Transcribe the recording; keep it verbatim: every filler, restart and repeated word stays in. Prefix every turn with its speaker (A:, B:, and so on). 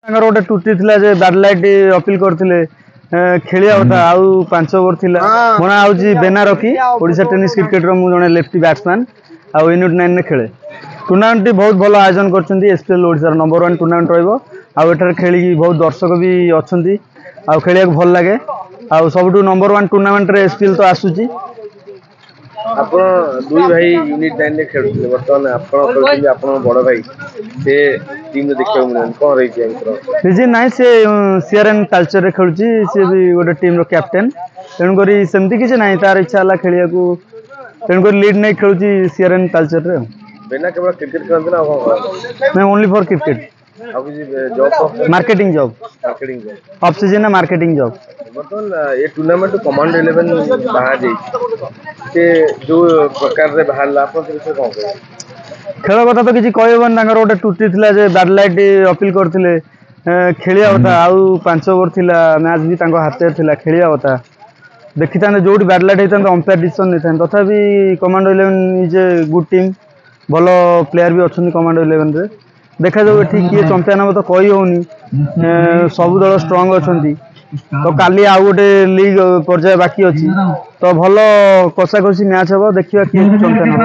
A: ତାଙ୍କର ଗୋଟେ ତ୍ରୁଟି ଥିଲା ଯେ ବ୍ୟାଡ୍ ଲାଇଟ୍ ଅପିଲ କରିଥିଲେ, ଏ, ଖେଳିବା କଥା, ଆଉ ପାଞ୍ଚ ଓଭର ଥିଲା। ମୋ ନାଁ ହେଉଛି ବେନା ରକି। ଓଡ଼ିଶା ଟେନିସ୍ କ୍ରିକେଟର ମୁଁ ଜଣେ ଲେଫ୍ଟି ବ୍ୟାଟ୍ସମ୍ୟାନ୍ ଆଉ ୟୁନିଟ୍ ନାଇନରେ ଖେଳେ। ଟୁର୍ଣ୍ଣାମେଣ୍ଟଟି ବହୁତ ଭଲ ଆୟୋଜନ କରିଛନ୍ତି। ଏସ୍ପିଏଲ୍ ଓଡ଼ିଶାର ନମ୍ବର ୱାନ୍ ଟୁର୍ଣ୍ଣାମେଣ୍ଟ ରହିବ ଆଉ ଏଠାରେ ଖେଳିକି ବହୁତ ଦର୍ଶକ ବି ଅଛନ୍ତି ଆଉ ଖେଳିବାକୁ ଭଲ ଲାଗେ। ଆଉ ସବୁଠୁ ନମ୍ବର ୱାନ୍ ଟୁର୍ଣ୍ଣାମେଣ୍ଟରେ ଏସ୍ପିଏଲ୍ ତ ଆସୁଛି।
B: ଆପଣ ଦୁଇ ଭାଇ ୟୁନିଟ୍ ନାଇନରେ ଖେଳୁଥିଲେ, ବର୍ତ୍ତମାନ ଆପଣ ଖେଳୁଛନ୍ତି, ଆପଣଙ୍କ ବଡ଼ ଭାଇ ସେ ଟିମ୍ରେ ଦେଖିବାକୁ ମିଳୁନି, କ'ଣ ରହିଛି ୟାଙ୍କର?
A: ରିଜିନ୍ ନାହିଁ, ସେ ସିଆର୍ଏନ୍ କଲଚରରେ ଖେଳୁଛି। ସିଏ ବି ଗୋଟେ ଟିମ୍ର କ୍ୟାପ୍ଟେନ୍, ତେଣୁକରି ସେମିତି କିଛି ନାହିଁ। ତାର ଇଚ୍ଛା ହେଲା ଖେଳିବାକୁ, ତେଣୁକରି ଲିଡ୍ ନେଇ ଖେଳୁଛି ସିଆର୍ଏନ୍ କଲଚରରେ। ଆଉ
B: ବେନା କେବଳ କ୍ରିକେଟ ଖେଳନ୍ତି ନା ଆଉ କ'ଣ କରନ୍ତି?
A: ନାଇଁ, ଓନ୍ଲି ଫର୍ କ୍ରିକେଟ।
B: ଆଉ କିଛି job?
A: Marketing job.
B: Marketing job.
A: Of ସିଜନରେ ମାର୍କେଟିଂ ଜବ୍।
B: ବର୍ତ୍ତମାନ ଏ ଟୁର୍ଣ୍ଣାମେଣ୍ଟ କମାଣ୍ଡୋ ଇଲେଭେନ୍ ବାହାର ଯାଇଛି, ସେ ଯୋଉ ପ୍ରକାରରେ ବାହାରିଲା, ଆପଣ ସେ ବିଷୟରେ କ'ଣ କହିବେ?
A: ଖେଳ କଥା ତ କିଛି କହିହେବନି। ତାଙ୍କର ଗୋଟେ ତ୍ରୁଟି ଥିଲା ଯେ ବ୍ୟାଡ୍ ଲାଇଟ୍ ଅପିଲ କରିଥିଲେ, ଏ, ଖେଳିବା କଥା, ଆଉ ପାଞ୍ଚ ଓଭର ଥିଲା, ମ୍ୟାଚ୍ ବି ତାଙ୍କ ହାତରେ ଥିଲା, ଖେଳିବା କଥା। ଦେଖିଥାନ୍ତେ, ଯୋଉଠି ବ୍ୟାଡ୍ ଲାଇଟ୍ ହେଇଥାନ୍ତେ ଅମ୍ପାୟାର ଡିସିସନ୍ ନେଇଥାନ୍ତେ। ତଥାପି Commando Eleven is a good team, ଭଲ ପ୍ଲେୟାର ବି ଅଛନ୍ତି କମାଣ୍ଡୋ ଇଲେଭେନରେ। ଦେଖାଯାଉ ଏଠି କିଏ ଚମ୍ପିଆନ୍ ହେବ ତ କହି ହେଉନି, ଏ, ସବୁ ଦଳ ଷ୍ଟ୍ରଙ୍ଗ ଅଛନ୍ତି। ତ କାଲି ଆଉ ଗୋଟେ ଲିଗ୍ ପର୍ଯ୍ୟାୟ ବାକି ଅଛି, ତ ଭଲ କଷାକଷି ମ୍ୟାଚ୍ ହେବ, ଦେଖିବା କିଏ ଚମ୍ପିଆନ୍ ହେବ।